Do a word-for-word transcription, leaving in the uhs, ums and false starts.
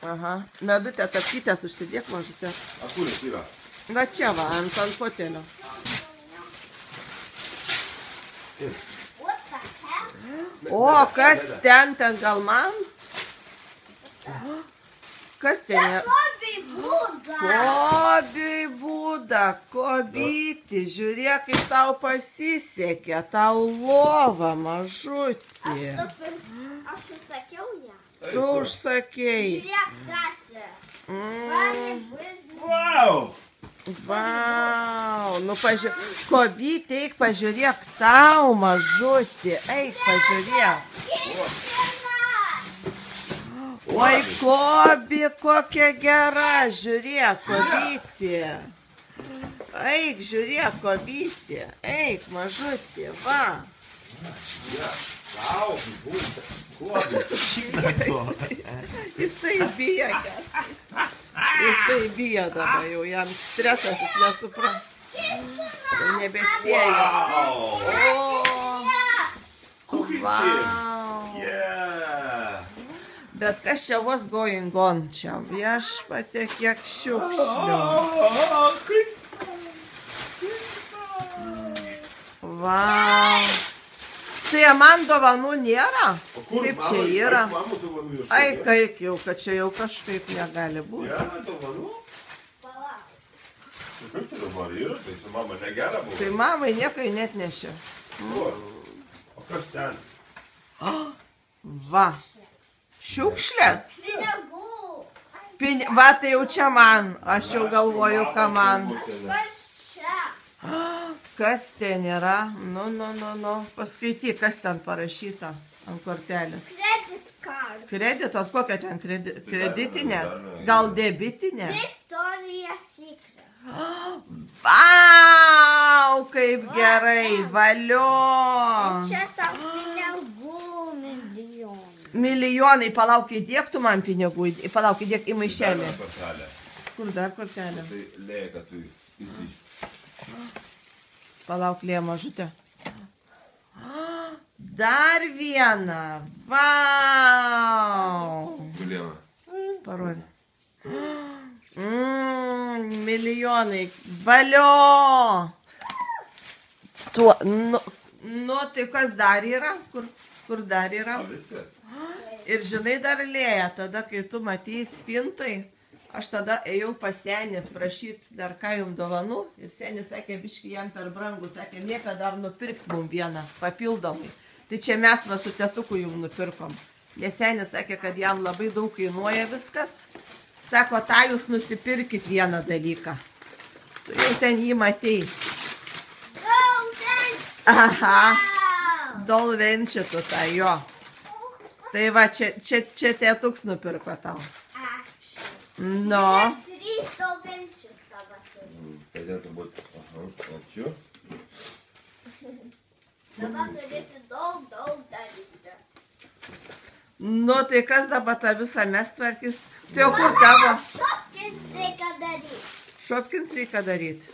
Aha. Medutę tapkytės užsidėk, mažutė. A kuris yra? Va čia va, ant ant fotelio. O, kas ten, ten gal man? Kas ten yra? Kobiai būda. Kobiai būda, kobyti, žiūrėk, kaip tau pasisekė, tau lova, mažutė. Aš įsakiau ją. Tu užsakėjai. Žiūrėk, tacė. Mm. Vau! Vau, nu pažiūrėk, kobytė, eik pažiūrėk tau, mažutė, eik pažiūrėk. Oi, kobi, kokia gera, žiūrėk, kobytė. Eik, žiūrėk, kobytė, eik, mažutė, va. Vau, būtent, kobi, šikato. Jisai bijagęs. Jisai bijo dabar jau, jam stresas, jis nesupras. Jau nebespėja. Vau! Vau. Yeah! Bet kas čia was going on čia? Viešpatie, kiek šiukšlių. Vau. Tai man dovanų nėra? Kaip čia yra? Ai, kaip jau, kad čia jau kažkaip negali būti. Nėra dovanų? Kaip čia dabar yra? Tai su mama negera buvo? Tai mamai niekai net nešė. O kas ten? Va. Šiukšlės. Pinigų. Pin... Va, tai jau čia man. Aš jau galvoju, ką man. Kas čia? Kas ten yra? Nu, nu, nu, nu. Paskaityk, kas ten parašyta ant kortelės. Credit card. Kredito, kokia ten kredi... kreditinė? Gal debitinė? Victoria's Secret. Vau, kaip gerai, valio. Čia tau pinigų milijonai. Milijonai, palauk, įdėk tu man pinigų, palauk, įdėk į maišelį. Dar kortelė. Kur dar kortelė? Tai lėja, kad tu įsiš. Palauk, lėja mažutė. Dar vieną. Vau. Milijoną. Parodė. Mm, milijonai. Valio. Tuo, nu, nu, tai kas dar yra? Kur, kur dar yra? O viskas? Ir žinai dar lėja, tada, kai tu matei spintoj, aš tada ėjau pas senį prašyti dar ką jums dovanų. Ir senis sakė, biški jam per brangu, sakė, liepia dar nupirkti mum vieną papildomai. Tai čia mes va su tetuku jums nupirkom. Nes senis sakė, kad jam labai daug kainuoja viskas. Sako, tą jūs nusipirkit vieną dalyką. Tu jau ten jį matei. Aha, dolvenčitų tą jo. Tai va, čia, čia, čia tetuks nupirko tau. No. Trys dolvenčius dabar turiu. Turėtų būti. Aha, ačiū. Dabar turėsi daug, daug daryti. Nu, tai kas dabar tą visą mes tvarkys? Tai jau kur tavo? Šopkins reikia daryti. Šopkins reikia daryti.